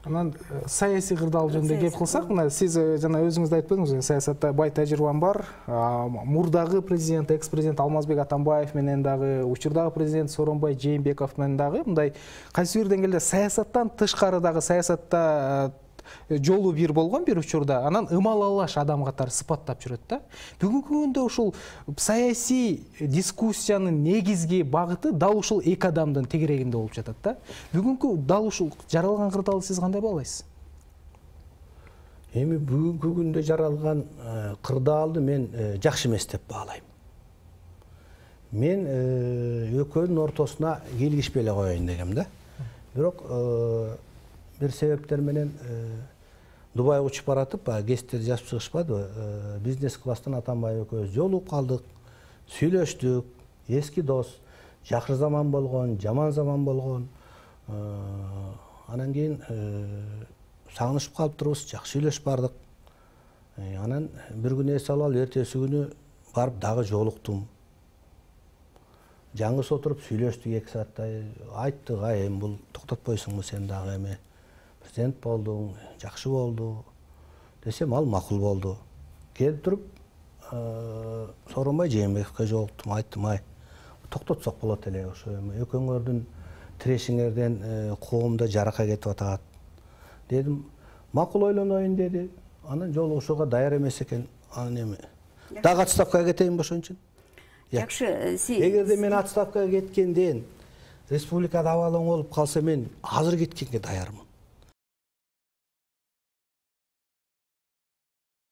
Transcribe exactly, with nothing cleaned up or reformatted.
Анан саясий кырдаал жөнүндө кеп кылсак, мына сиз жана өзүңүз да айтпадыңызбы, саясатта бай тажрыйбам бар. Мурдагы президент, экс-президент Алмазбек Атамбаев менен дагы, учурдагы президент Сооронбай Жээнбеков менен дагы мындай кайсы бир деңгээлде саясаттан тышкарыдагы саясатта жолу бир болгон бир учурда, анан ымалалаш адам катары сыпаттап жүрөт да. Бүгүнкү күндө ушул саясий дискуссиянын негизги багыты дал ушул эки адамдын тегерегинде болуп жатат да. Бүгүнкү дал ушул жаралган кырдаалды сиз кандай баалайсыз? Эми бүгүнкү күндө жаралган кырдаалды мен жакшы эмес деп баалайм. Мен экөөнүн ортосуна келгишпей эле коеюн дегем да. Бирок бир себептер менен Дубайга учуп баратып, гезиттерди жазып чыгышпадыбы? Бизнес класстан Атамбаев экөөбүз жолугуп калдык, сүйлөштүк, эски дос, жакшы заман болгон, жаман заман болгон. Анан кийин сагынышып калыптырбыз, жакшы сүйлөшүп бардык. Анан бир күнү эс алып алып, эртеси күнү барып дагы жолуктум. Жаңгыс отуруп сүйлөштүк эки сааттай, айттык, ай эми бул токтотпойсуңбу сен дагы эми? Президент болдуң, жакшы болду десем, ал макул болду. Келип туруп, Сооронбай Жээнбековго жолуктум, айттым, ай, токтотсок болот эле ошо эми экөөңөрдүн тирешиңерден коомдо жарака кетип атат. Дедим, макул ойлоноюн деди. Анан жолугушууга даяр эмес экен. Анан эми дагы отставкага кетейинби ошон үчүн? Жакшы, сиз эгерде мен отставкага кеткенден республикада абал оң болуп калса, мен азыр кеткенге даярмын.